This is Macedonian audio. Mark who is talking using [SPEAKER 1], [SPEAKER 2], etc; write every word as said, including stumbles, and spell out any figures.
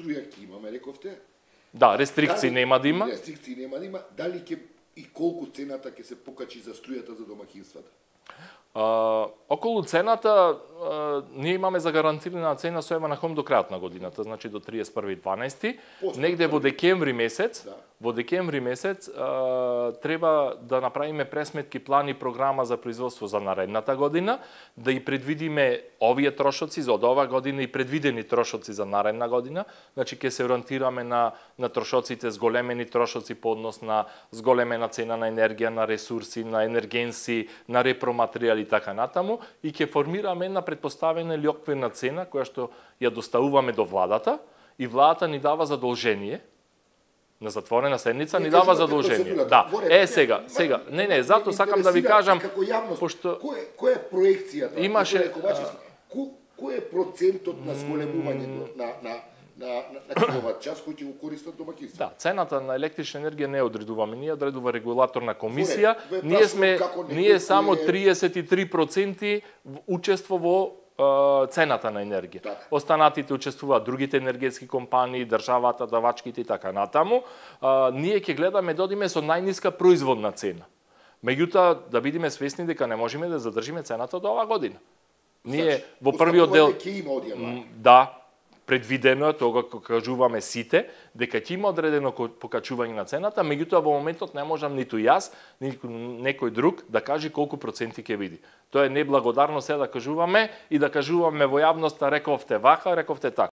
[SPEAKER 1] струја ќе имаме, рековте.
[SPEAKER 2] Да, рестрикции
[SPEAKER 1] Дали,
[SPEAKER 2] нема да има.
[SPEAKER 1] Рестрикции нема да има. Дали ќе и колку цената ќе се покачи за струјата за домаќинствата?
[SPEAKER 2] А, околу цената, а, ние имаме загарантирана цена со Евана Хом до крајот на годината, значи до триесет и први дванаести. Негде во декември месец, да. во декември месец а, треба да направиме пресметки, план и програма за производство за наредната година, да и предвидиме овие трошоци за од оваа година и предвидени трошоци за наредна година. Значи ќе се ориентираме на на трошоците, зголемени трошоци по однос на зголемена цена на енергија, на ресурси, на енергенси, на repроматеријали и така натаму, и ќе формираме една предпоставена или оквирна цена која што ја доставуваме до владата, и владата ни дава задолжение на затворена седница, ни дава задолжение. Да. Е, сега, сега. Не, не, затоа сакам да ви кажам,
[SPEAKER 1] пошто кој која е проекцијата?
[SPEAKER 2] Имаше
[SPEAKER 1] кој е процентот на зголемувањето на на на на киловат час кој ќе го користат домаќинствата? Да,
[SPEAKER 2] цената на електрична енергија не одредуваме ние, одредува регулаторна комисија. Ние сме ние само триесет и три проценти учество во цената на енергија. Да. Останатите учествуваат другите енергетски компании, државата, давачките и така натаму. А, ние ќе гледаме да одиме со најниска производна цена. Меѓутоа, да бидеме свесни дека не можеме да задржиме цената до оваа година. Ние значи, во првиот дел да, предвидено е тоа кога кажуваме сите дека ќе има одредено покачување на цената, меѓутоа во моментот не можам ниту јас, ниту некој друг да каже колку проценти ќе биде. Тоа е неблагодарно се да кажуваме и да кажуваме во јавноста рековте вака, рековте така.